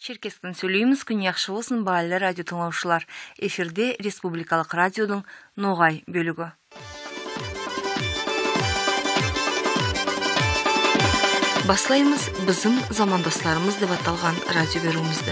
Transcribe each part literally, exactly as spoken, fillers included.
Черкесскден сёлейбиз, кюн яхшы болсун, баалы радио тынгылаучулар. Эфирде республикалыкъ радиодун ногъай бёлюгю. Баслайбыз «Бизим замандасларыбыз» деп аталгъан радио бериуюбюзню.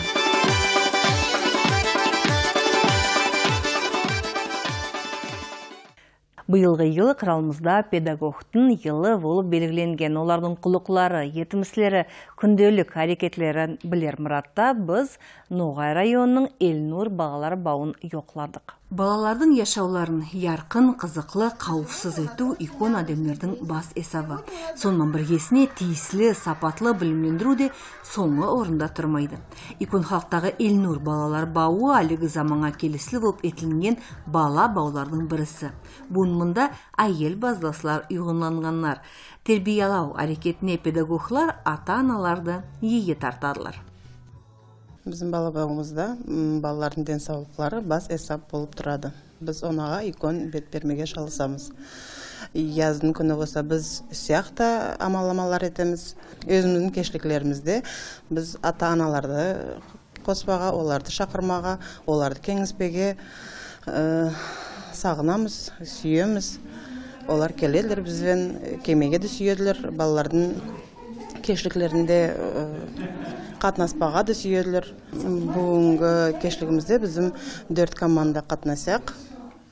Быйылгъы йыл къралыбызда педагогдун йылы болуп белгиленген. Оланы къуллукълары, етимислери, кюнделик арекетлерин билир мыратда биз Ногъай районуну Эльнур балалар бауун ёкъладыкъ. Балалардын яшауларын яркъын, къызыкълы, къауфсуз этиу юйкю адамларыны бас эсабы. Сондан биргесине тийисли, сапатлы билимлендириу да сонгу орунда турмайды. Юйкю халкъдагъы Эльнур балалар бауу алиги заманнга келисли болуп этилинген бала бауларыны бириси. Бюгюн мында айыл базласлар юйгенланнганла. Тербиялау арекетине педагогла ата-аналаны иги тартадыла. Бизим бала бауубузда, м, балалардын ден саулукълары бас эсап болуп турады. Биз огъуна юйкю бет бермеге чалышабыз. Язны кюню болса биз сыякъда амалламалар этебиз. Ёзюбюзню кечликлерибизде биз ата-аналаны къосмагъа, оланы чакъырмагъа, оланы кенгишмеге, э, сагъынабыз, сюебиз. Олар келедиле биз бла, келмеге да сюедиле. Балалардын кечликлеринде, э, къатнаспагъа да сюедиле. Бюгюннгю кечлигибизде бизим дёрт команда къатнашады.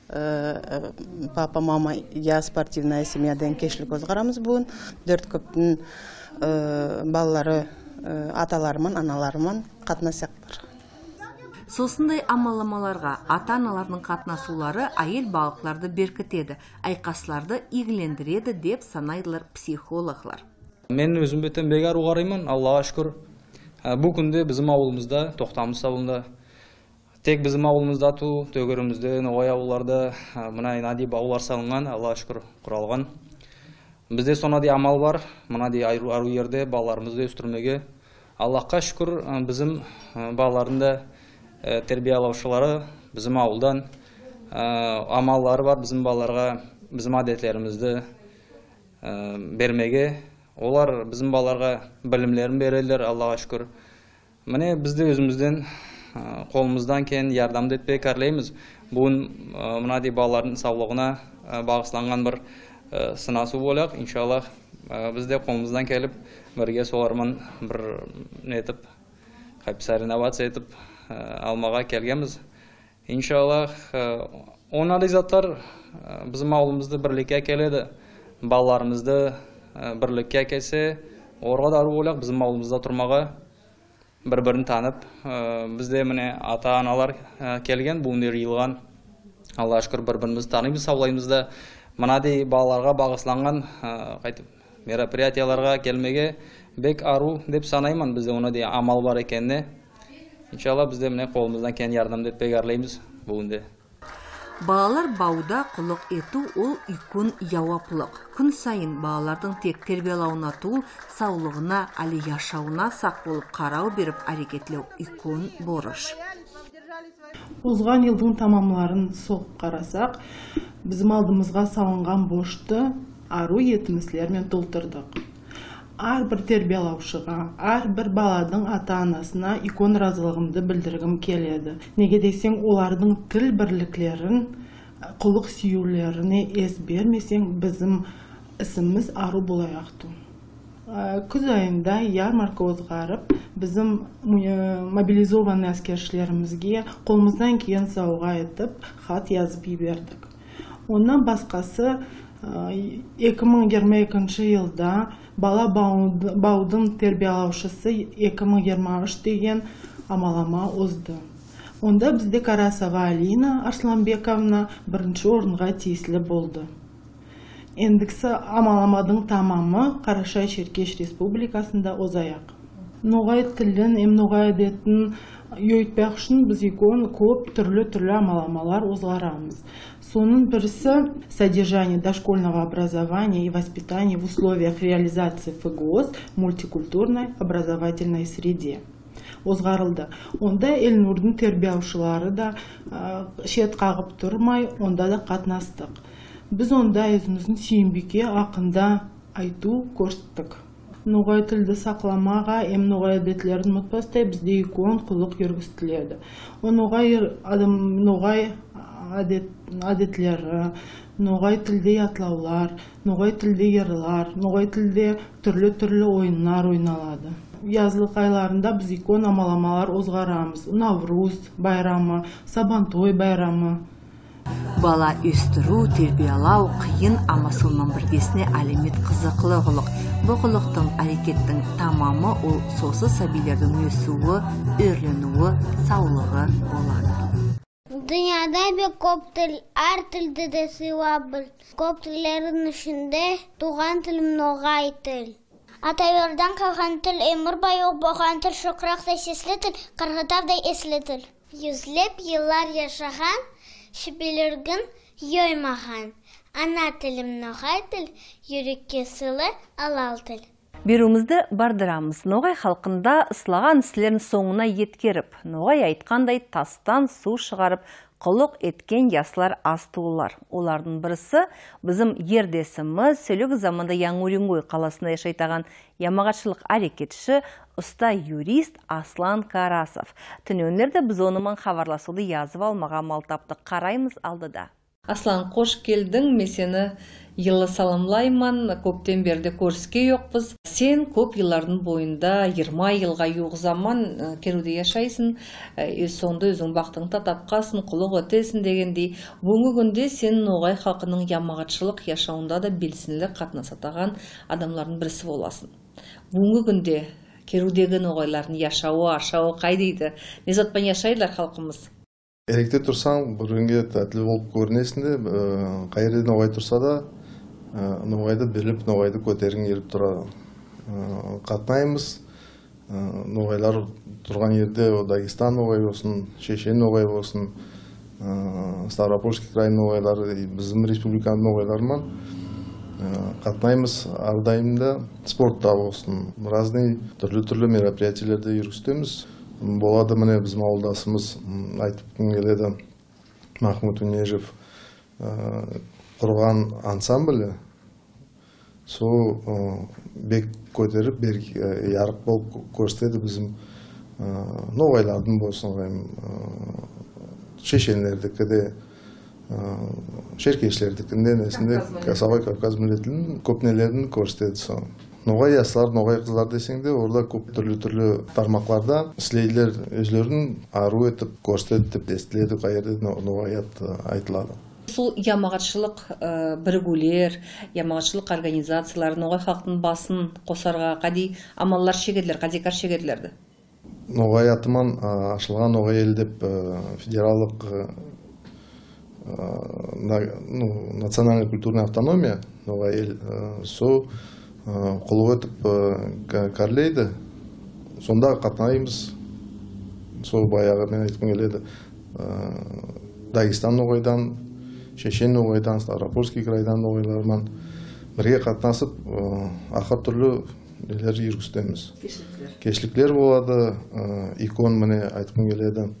Э, э, «Папа, мама, я спортивная семья» деген кечлик озгъарабыз бюгюн. Дёрт кёпню, э, балалары, э, аталары ман, аналары ман къатнашадыла. Сосундай амалламаларгъа ата-аналаны къатнашыулары айыл баалыкъланы беркитеди, айкъасланы игилендиреди деп санайдыла психологла. Мен ёзюм бла бек арыу къарайман, Аллахха шукур. Э, бу кюнде бизим ауулубузда, Тохтамыс ауулунда, тек бизим ауулубузда тюл, тёгерегибизде, ногъай ауулларда, а, мындай баулар салыннган, Аллахха шукур, къуралгъан. Бизде сондай амал бар, мындай арыу, арыу ерде балаларыбызны ёсдюрмеге. Аллахха шукур, а, бизим, а, балаланы да, э, тербиялаучулары бизим ауулдан, а, амаллары бар бизим балаларгъа, бизим адетлерибизни, э, бермеге. Олар бизим балаларгъа билимлерин бередиле, Аллахха шукур. Мына, биз да ёзюбюзден, э, къолубуздан келген ярдамны этмеге къарайбыз. Бюгюн, э, мындай балаланы саулугъуна, э, багъышланнган бир, э, сынашыу боллукъ. Иншаллах, э, биз да къолубуздан келип, бирге солар ман бир не этип, къайтып, соревноваться этип, э, алмагъа келгенбиз. Иншаллах, э, ондай затлар, э, бизим ауулубузну бирликге келтиреди. Балаларыбызны, э, бирликге келтирсе, огъуна да арыу боллукъ бизим ауулубузда турмагъа. Бир-бирин танып, э, бизде мына ата-аналар, э, келген, бюгюн да жыйылгъан. Аллахха шукур, бир-бирибизни таныйбыз, саулайбыз да. Мындай балаларгъа багъышланнган, э, къайтып, мероприятияларгъа келмеге бек арыу деп санайман, бизде ондай амал бар экенине. Иншаллах, биз да мына къолубуздан келген ярдамны этмеге къарайбыз бюгюн да. Балалар бауда къуллукъ этиу ол юйкю жууаплыкъ. Кюн сайын балаланы тек тербиялауна тюл, саулугъуна, али яшаууна сакъ болуп къарау берип ариетлеу юйкю борч. Озгъан жылдын тамамларын согъуп къарасакъ, бизим алдыбызгъа салыннган борчну арыу етимислер мен толтурдукъ. Ар бир тербиялаучугъа, ар бир баладын ата-анасына юйкю ыразылыгъымы билдиргим келеди. Неге десенг, оланы тил бирликлерин, къуллукъ сюйюулерине эс бермесенг, бизим исимибиз арыу болуучукъду. Э, кюз айында ярмарка озгъарып, бизим му-, э, мобилизованный аскерчилерибизге къолубуздан келген саугъа этип, хат жазып жибердик. Ондан башхасы, э, эки минг жыйырма экинчи жылда бала бауд-, баудун тербиялаучусу эки минг жыйырма юч деген амаллама озду. Онда бизде Карасова Алина Арсланбековна биринчи оруннга тийисли болду. Эндигиси амалламадын тамамы Къарачай-Шеркеш Республикасында озаякъ. Ногъай тилин эм ногъай адетин ёйтмакъ ючюн биз юйкю кёп тюрлю-тюрлю амалламалар озгъарабыз. Сонун бириси — содержание дошкольного образования и воспитания в условиях реализации ФГОС в мультикультурной образовательной среде озгъарылды. Онда Эльнурдун тербиялаучулары да, э, чет къагъып турмай, онда да къатнашдыкъ. Биз онда ёзюбюзню Сюйюмбийке акъында айтыу кёрсетдик. Ногъай тилди сакъламагъа эм ногъай адетлерин унутмаздай бизде икон къуллукъ юргюзтюледи. Ол ногъай ир-, адам-, ногъай адет-, адетлери, ногъай тилде ятлаулар, ногъай тилде йырлар, ногъай тилде тюрлю-тюрлю оюнлар ойналады. Язлыкъ айларында биз икон амаламалар озгъарабыз. Навруз байрамы, Сабантой байрамы. Бала ёсдюрюу, тербиялау къыйын, амма соман биргесине алимет къызыкълы къуллукъ. Бу къуллукъдун, арекетдин тамамы ол сосуз сабийледен ёсюую, ёрлениую, саулугъу болады. Дунияда бек кёп тил, ар тилди да сыйлаб бил. Кёп тиллерин ичинде туугъан тилим ногъай тил. Аталардан къалгъан тил, ёмюр бою болгъан тил, шокъракъдай сесли тил, къыргъытаудай эсли тил. Юзлеб йыллар яшагъан, шибилиргин ёймагъан. Ана тилим ногъай тил, юрекге сыйлы, алал тил. Бериуюбюзню бардырабыз. Ногъай халкъында ыслагъан ислерин сонгуна еткериб, ногъай айтхандай, тасдан суу шыгъарыб, къуллукъ этген яслар аз туулула. Олардын бириси бизим ердесибиз, сёлеги заманда Янгы Уренгой къаласында яшайтагъан ямагъатчылыкъ арекетчи, уста юрист Аслан Карасов. Тюнеунлерде биз ону ман хабарласыуну языб алмагъа амал табдыкъ. Къарайбыз алда да. Аслан, къош келдинг. Мен сени йылы саламлайма. Кёбден бери да кёрюшген джокъбуз. Сен кёб йыллардын боюнда, джыйырма йылгъа джууукъ заман, э, Кериуде яшайса, э, ёз сонгунда ёзюнг бахтынгы да табханса, къуллукъ этесе дегенди. Бюгюннгю кюнде сен ногъай халкъыны ямагъатчылыкъ яшауунда да белсенди къатнашатагъан адамлардан бириси боласа. Бюгюннгю кюнде Кериудеги ногъайланы яшауу, ашауу къайдайды? Не зат бла яшайдыла халкъыбыз? Эрекде турсанг, бир-биринге татли болуб кёрюнесе да, э, къайры ногъай турса да, э, ногъайды билиб, ногъайды кётергинг келиб турады. Э, къатнайбыз, э, ногъайлар тургъан ерде, ол Дагестан ногъай болсун, Шешен ногъай болсун, э, Ставропольский край ногъайлары, э, бизим республиканы ногъайлары ман, э, къатнайбыз ар дайым да. Спортда болсун, разный тюрлю-тюрлю мероприятиелерди юргюзтебиз. Болады, мине, бизим ауылдашыбыз, м, айтыб келеди, Махмуд Унежев, э, къургъан ансамбли, сора, э, бек кётериб, бек, э, ярыкъ болуб кё-, кёргюзтеди бизим, э, ногъайлардын болсун, э, шешенлердики да, э, шеркешлердикин да, несин да, Кавказ миллетлери. Кавказ миллетлерини кёб нелерин кёргюзтеди сора. Ногъай яслар, ногъай къызлар десенг да, олар да кёб тюрлю-тюрлю тармакъларда ислейдиле ёзлерин арыу этиб, кёргюзтиб, эсгертиледи, къайры но-, ногъай ат, э, айтылады. Сора ямагъатчылыкъ, э, биригиулер, ямагъатчылыкъ организациялары ногъай халкъны басын къосаргъа къадий амаллар чегедиле, къадий кар чегедиле да. Ногъай аты ман, а, ачылгъан «Ногъай эл» деб, э, федераллыкъ, э, э, на-, ну, национальный культурный автономия, «Ногъай эл», э, сора, э, къуллукъ этиб, э, ка-, кёрюледи. Сонда къатнайбыз. Сора баягъы мен айтхым келеди, э, Дагестан ногъайдан, Шешен ногъайдан, Ставропольский крайдан ногъайлар ман бирге къатнашыб, э, ахыр тюрлю нелер юргюзтебиз. Кешликлер. Кешликлер болады, э, икон, мине, айтхым келеди.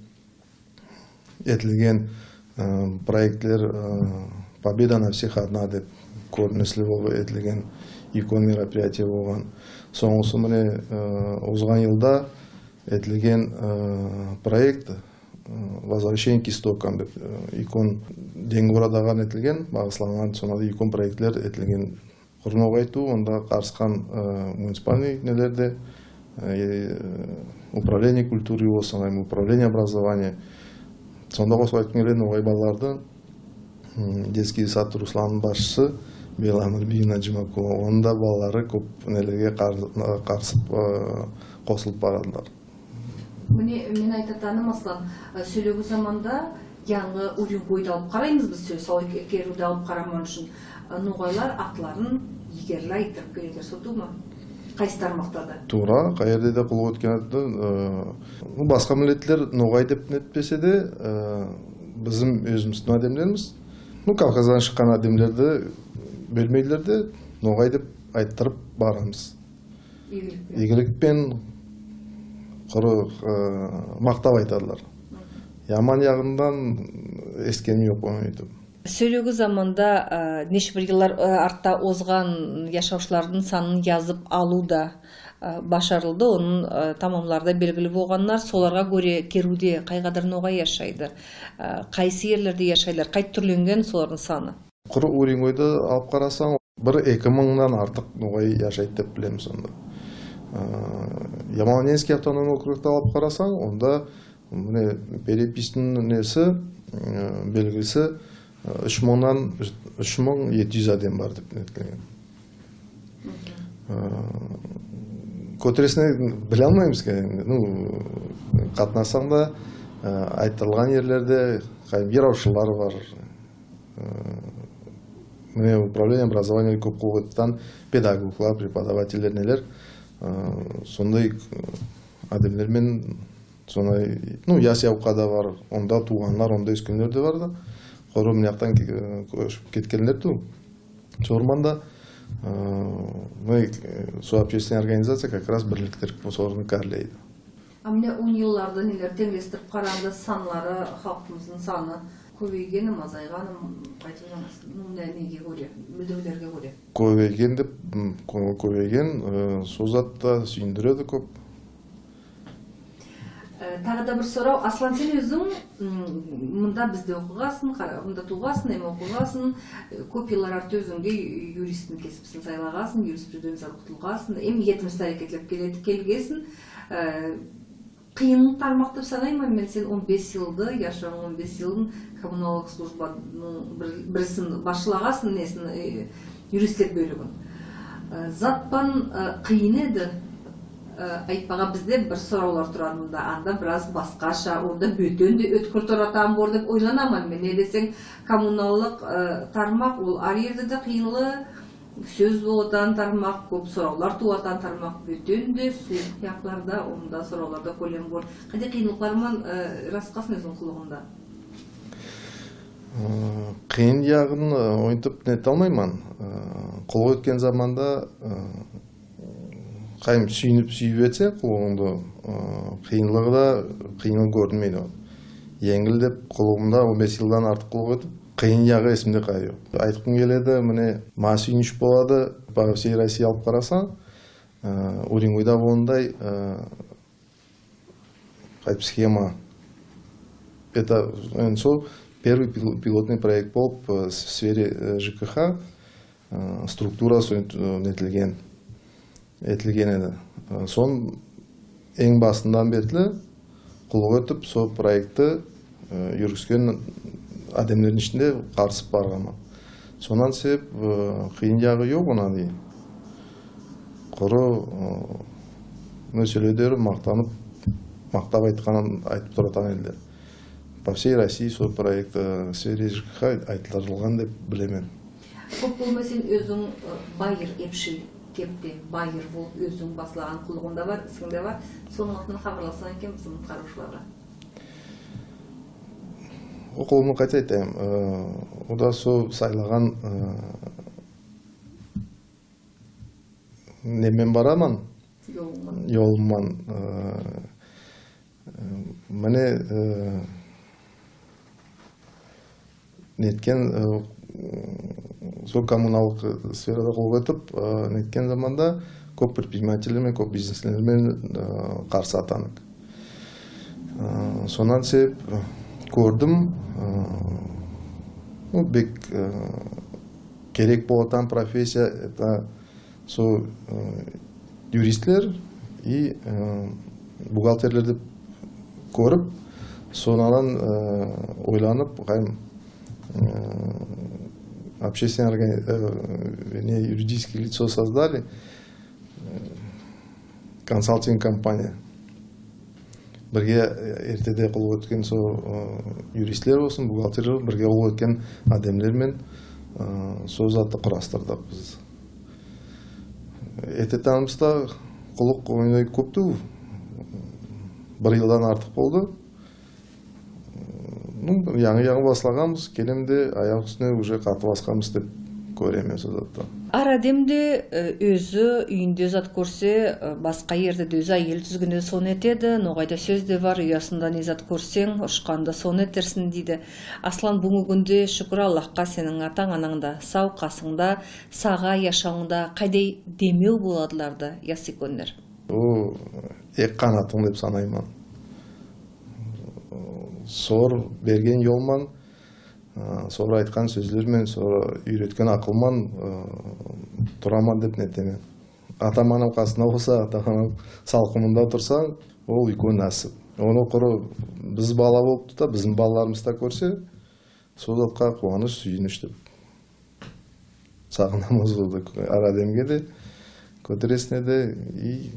Этилген, э, проектлер, э, «Победа на всех одна» деб кёрюнюслю болуб этилген икон мероприятие болгъан. Сонгусу, мине, э, озгъан йылда этилген, э, проект, э, «Возвращение к истокам» деб, э, икон, Денгурадагъа этилген, багъысланнган, сонда да икон проектлер этилген. Къуру ногъайтыу, онда къарысхан, э, муниципальный нелер да, э, управление культуры болсун, эм управление образования. Сонда къошулуп айтхым келеди, ногъай балаларды, м, детский сад «Русланны» башчысы Белла Амирбийевна Джумакулова, онда балалары кёп нелеге къар-, къарысып, э, къошулуп барадыла. Муну мен айтатаным, Аслан, э, сёлеги заманда Янгы Уренгойду алып къарайбыз биз, сёз, Саулай Ке-, Кериуду алып къараман ючюн, э, ногъайлар атларын игерли айтдырып келедиле, сора тюзмю? Къайсы тармакъда да? Туура, къайерде да къуллукъ этген атды, э, бу басха миллетлер ногъай деп нетпесе да, э, бизим ёзюбюзню адамларыбыз, ну, Кавказдан чыкъгъан адамлар да бёлмейдиле да, ногъай деп айтдырып барабыз. Игилик бла. Игилик бла къуру, э, махтап айтадыла. Хы. Яман ягъындан эситгеним джокъ, болмайды. Сёлеги заманда, э, неше бир йыллар, э, артда озгъан яшаучуланы санын язып алыу да, э, башарылды. Аны, э, тамамлары да белгили болгъанла. Соларгъа кёре Керуде къайгъадар ногъай яшайды? Э, къайсы ерлерде яшайла? Къайт тюрленнген соланы саны? Къуру Уренгойда алып къарасанг, бир эки мынгдан артыкъ ногъай яшайды деп билеме сонда. Э, Ямало-Ненецкий автономный округда алып къарасанг, онда, мына, переписьни неси, э, белгиси, э, юч мынгдан, юч мынг ети юз адам бар деп нетилген. Э, кётюресине билалмайбыз экен, ну, къатнашсанг да, э, айтылгъан ерлерде, къайым, йыраучула бар. Э, мына, управление образования кёп къуллукъ этген педагоглар, преподавательлер, нелер, э, сондай, э, адамлар мен, сондай, ну, яс-яукъа да бар, онда туугъанла, онда ёсгенле да бар да, къуру мынакъдан ке-, э, кёчюп кетгенле тюл. Сора мында, э, мына, э, со общественная организация как раз бирликдирип, соланы кёрлейди. А мына он йылларда нелер, тенглешдирип къарагъанда, санлары, халкъыбызны саны кёбейгенми, азайгъанмы, къайтып ойланасыз? Ну, не, неге кёре, билдириулерге кёре? Кёбейген деп, м, кё-, кёбейген, э, со зат да сюйюндюреди кёп. Э, тагъыда бир сорау. Аслан, сен ёзюнг, м, мында бизде окъугъанса, къара-, мында туугъанса, эм окъугъанса, э, кёп йыллар артда ёзюнге юристни кесибин сайлагъанса, юриспруденцияда окъутулгъанса, эм етмишде аракетлеп келе-, келгенсе, э, къыйын тармакъ деп санайма мен сен он беш йылны, яшауунгу он беш йылын коммуналлыкъ службаны бир-, бирисин башлагъанса, несин, э, юристлик бёлюгюн. Э, затдан, э, къыйын эди, э, айтмагъа, бизде бир сораулар турады мында, анда бир аз басхача, орда бютюн да ёткюр турады, ама орда деп ойланама мен, не десенг, коммуналлыкъ, э, тармакъ, ол ар ерде да къыйынлы, сёз болатан тармакъ, кёп сораулар тууатан тармакъ, бютюн да суу якъларда, онда сорауларда кёлем бор. Къайда къыйынлыкъларман, э, рассказ этсенг къуллугъунгда? Э, къыйын ягъын, э, онтип неталмайма. Э, къуллукъ этген заманда, э, къайым, сюйюнюп, сюйюп этсенг къуллугъунгу, э, къыйынлыгъы да къыйын кёрюнмейди. Енгил деп къуллугъумда он беш йылдан артыкъ къуллукъ этип, къыйын ягъы эсимде къайы ёкъ. Айтхым келеди, мына, ма сюйюнч болады, по всей России алып къарасанг, э, Уренгойда болгъандай, э, Хайп схема. Это, энди, сол первый пил-, пилотный проект болуп, э, с-, в сфере, э, Ж К Х, э, структура сол, э, нетилген, этилген эди. Э, сонг эм башындан бери къуллукъ этип, сол проектни э, юргюзген адамланы ичинде къарысып баргъанма. Сондан себеп, э, къыйын ягъы ёкъ, аны дей. Къуру, э, мына сёле дери махтанып, махтап айтханын айтып туратхан эдиле. По всей России сол проект, э, в сфере Ж К Х айтылдырылгъан деп билеме. Кёп болмай сен ёзюнг, э, байыр, эпшил кепде, байыр болуп, ёзюнг баслагъан къуллугъунг да бар, исинг да бар. Сора мындан хапарласанг экен бизин къарыучулагъа. Ол къуллугъумну къайда айтайым, э, ол да сол сайлагъан, э, немен барама. Ёлуман. Ёлуман, э, э, мына, э, нетген, э, сол коммуналлыкъ сферада къуллукъ этип, э, нетген заманда кёп предпринимательлер мен, кёп бизнеслер мен, э, къарысатаныкъ. Э, сондан себеп, э, кёрдюм, э, ну, бек, э, керек болатан профессия, это сол, э, юристлер и, э, бухгалтерлер деп кёрюп, сонг андан, э, ойланып, хайм, э, общественный органи-, э, вернее, юридическое лицо создали, э, консалтинг компания. Бирге, э, эртеде къуллукъ этген сол, э, юристлер болсун, бухгалтерлер, бирге къуллукъ этген адамлар мен, э, сол затны къурастырдыкъ биз. Этетаныбыз да къуллукъ ондай кёп тюл, бир йылдан артыкъ болду. Ну, янгы-янгы баслагъанбыз, келеме да, аякъ юсюне уже къаты басханбыз деп кёреме мен сол затда. Ар адам да, э, ёзю юйюнде зат кёрсе, э, басха ерде да ёзю айел тюзгенде да сагъыш этеди, ногъайда сёз да бар, уясында не зат кёрсенг, ушханда сагъыш этерсинг, дейди. Аслан, бюгюннгю кюнде, шукур Аллахха, сенинг атанг, ананг да сау, къасынгда, сагъа, яшауунгда къайдам демеу боладыла да, ясыйкенле. Ол эки къанатынг деп санайма. Сора берген ёл ман, э, сора айтхан сёзлер мен, сора юйретген акъыл ман, э, турама деп нетеме. Атам-анам къасымда болса, атам-анам салкъынында турсанг, ол юйке насып. Ону къуру биз бала болуб да, бизни балаларыбыз да кёрсе, сол затха къууаныш, сюйюнюш деп сагъынама ол да, ар адамгъа да, кётюресине да, и,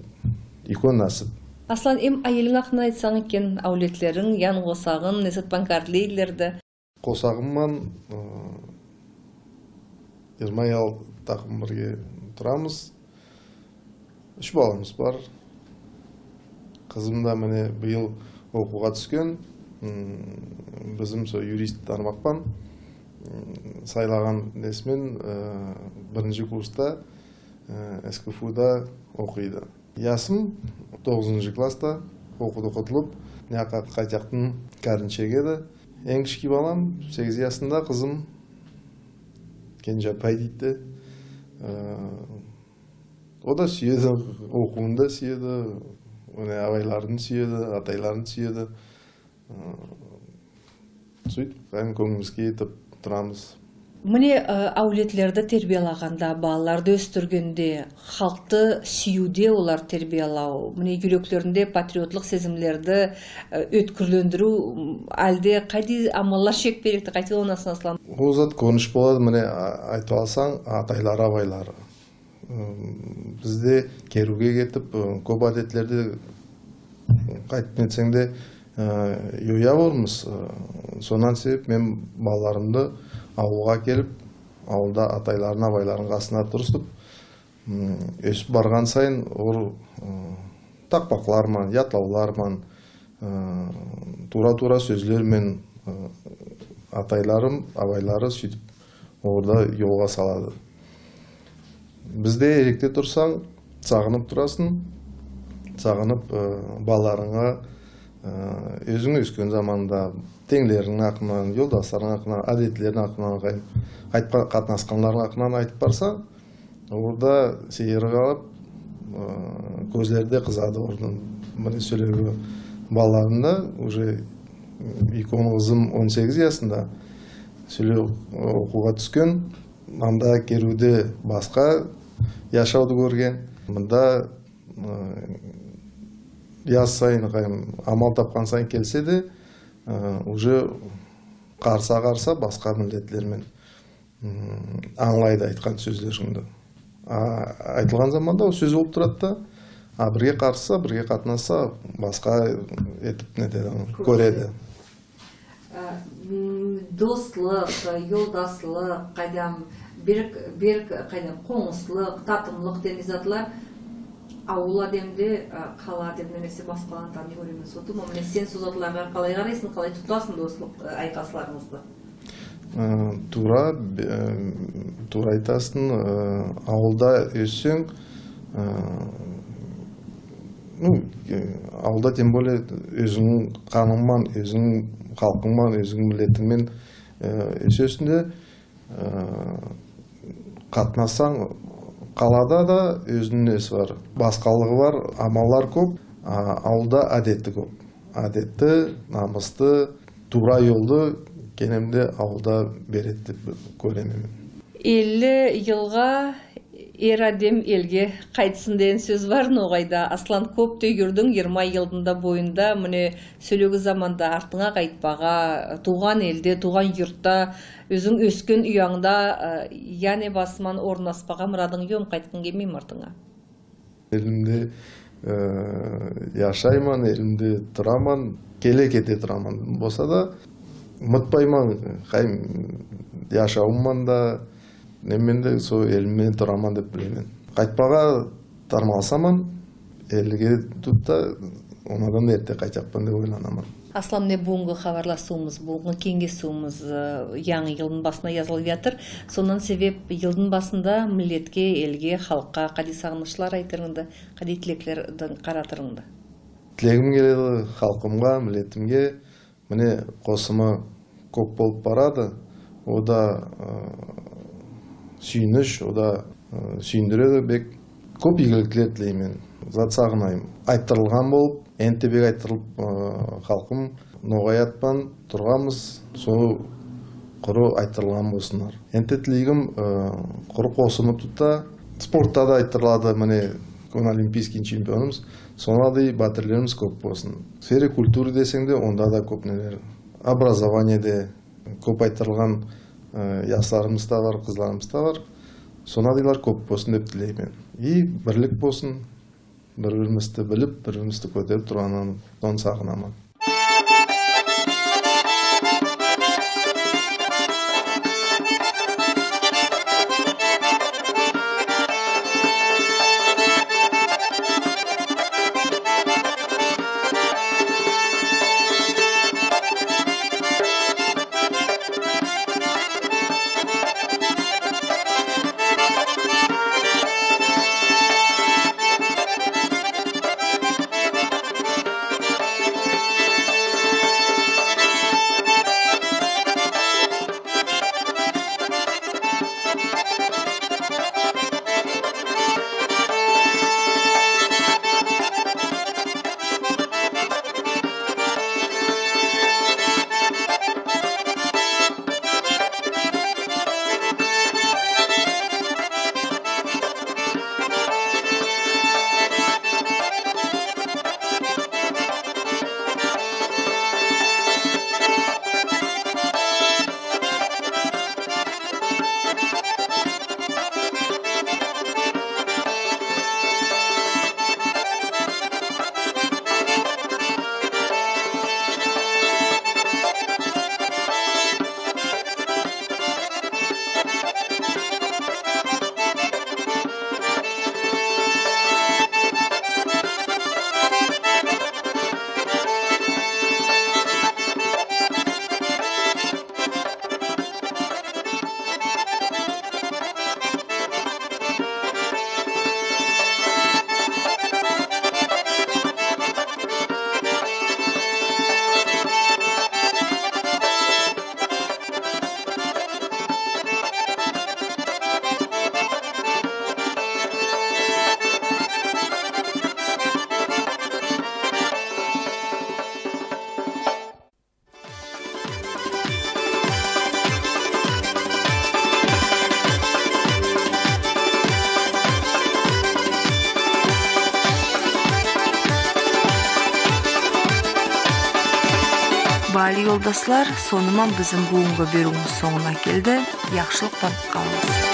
юйке насып. Аслан, эм айелинг акъындан айтсанг экен, аулетлеринг, ян къосагъынг, не зат бла къарнайдыла да? Къосагъым ман, э, джыйырма алты такъым бирге турамыз. Юч баламыз бар. Къызым да мине быйыл окъуугъа тюшген. М, бизни сол юрист тармакъ бла, м, сайлагъан несимен, э, биринчи курсда, э, СКФУ-да окъуйду. Ясым тогъузунчу классда, окъуду къутулуб, мына къайтыякъды Каринчеге да. Эм кичи балам сегиз ясында, къызым, Кенже апай дейди. Э, ол да сюеди, окъууун да сюеди, мына, абайларын сюеди, атайларын сюеди. Э, сюйтюб, эм кёнгюлюбюзге этиб турамыз. Мына, э, аулетлерде тербиялагъанда, балаланы ёсдюргенде, халкъды сюеди оланы тербиялау. Мына, джюреклеринде патриотлукъ сезимлерди, э, ёткюрлендириу, м, алда къайдам амалла чекмеликди, къайдам, ол насыб, Аслан? Ол зат кёрюнюш болады, мына, а-, айтыб алсанг, атайлары, абайлары. М, бизде кериуге кетиб, э, кёб адетлерди, къайтыб нетсенг да, э, ёя болурбуз. Э, сондан себеб мен балаларымы аулгъа келиб, аулда атайларын, абайларын къасына тургъузуб, м, ёсюб баргъан сайын ол, э, такъмакълар ман, ятлаулар ман, э, туура-туура сёзлер мен, э, атайлары, абайлары сюйтюб оланы ёлгъа салады. Бизде, эрекде турсанг, сагъыныб турасынг, сагъыныб, э, балаларынга, э, ёзюнг ёсген заманда тенглеринг акъындан, ёлдасларынг акъындан, адетлеринг акъындан, къай-, къайтыб къатнашханларынг акъындан айтыб барсанг, ол да сейир къалыб, э, кёзлери да къызады оланы. Мына сёлеге, балаларымы да уже, э, юйкем къызым он сегиз ясында, сёле, э, окъуугъа тюшген, анда кериуде басха яшауду кёрген. Мында, э, яз сайын, къайдам, амал табхан сайын келсе да, э, уже къарыша-къарыша басха миллетлер мен, м, ангылайды айтхан сёзлеринги да. А, айтылгъан заманда ол сёз болуб турады да, а, бирге къарышса, бирге къатнашса, басха этиб нетеди, кёреди. Э, м, дослукъ, э, ёлдаслыкъ, къайдам, бир, бир, къайдам, къонушлукъ, татымлыкъ деген затла аул адамны, э, къала адамны эсе басхаланы таный кёреме сотум. Амма сен сора затлагъа къалай къарайсынг, къалай тутасынг дослукъ, э, айкъасларынгызны? Э, туура, б-, э, туура айтасынг, э, аулда ёссенг, э, ну, э, аулда, тем более, ёзюнгю къанынг ман, ёзюнгю халкъынг ман, ёзюнгю миллетинг мен, э, ёсесинг да, э, къатнашсанг, къалада да ёзюню неси бар. Басхалыгъы бар, амаллары кёб, а, аулда адети кёб. Адети, намысты, туура ёлду кенемде аулда береди деб кёреме мен. Элли йылгъа эр адам элге къайтсын деген сёз бар ногъайда. Аслан, кёб да юрдюнг, йырма йылны да боюнда, мына, сёлеги заманда артынга къайтмагъа, туугъан элде, туугъан юртда, ёзюнг ёсген юйюнгде, э, яни басман орнашмагъа мырадынг ёкъму, къайтхан кюн артынга? Элимде, э, яшайман, элимде тураман, келе-кете тураман. Болса да, мытпайман, къайдам, яшауум ман да, немен да, сол элимде тураман деб билеме. Къайтмагъа тармалсаман, элге тутуб да, Андан да эрте къайтырыкъма деп ойланама. Аслам, не, бюгюннгю хапарлашыуубуз, бюгюннгю кенгешиуюбюз, э, янгы йылны басына язылып ятыр. Сондан себеп, йылны басында миллетге, элге, халкъгъа къайдам сагъынышла айтырыгъыз да, къайдам тилекле къаратырыгъыз да? Тилегим келеди халкъымгъа, миллетимге, мына, къосуму кёп болуп барады. Ол да, э, сюйюнч, ол да, э, сюйюндюреди бек. Кёп игиликле тилейме. Зат сагъынайма. Айтдырылгъан болуп, энтда бек айтдырылып, э, халкъым, ногъаятман тургъанбыз, сора къуру айтдырылгъан болсунла. Энтда тилейме, э, къуру къосуму тута, спортда да айтдырылады, мына, бюгюн олимпийский чемпионубуз, сора да батирлерибиз кёп болсун. В сфере культуры десенг да, онда да кёп неле. Образованиеде кёп айтдырылгъан, э, ясларыбыз да бар, къызларыбыз да бар. Сора да алай кёп болсун деп тилейме. И бирлик болсун, бир-бирибизни билип, бир-бирибизни кётерип тургъанын сагъынама. Баалы ёлдашлар, сора бизни бюгюннгю бериуюбюз сонгуна келди. Яхшылыкъ бла къалыгъыз.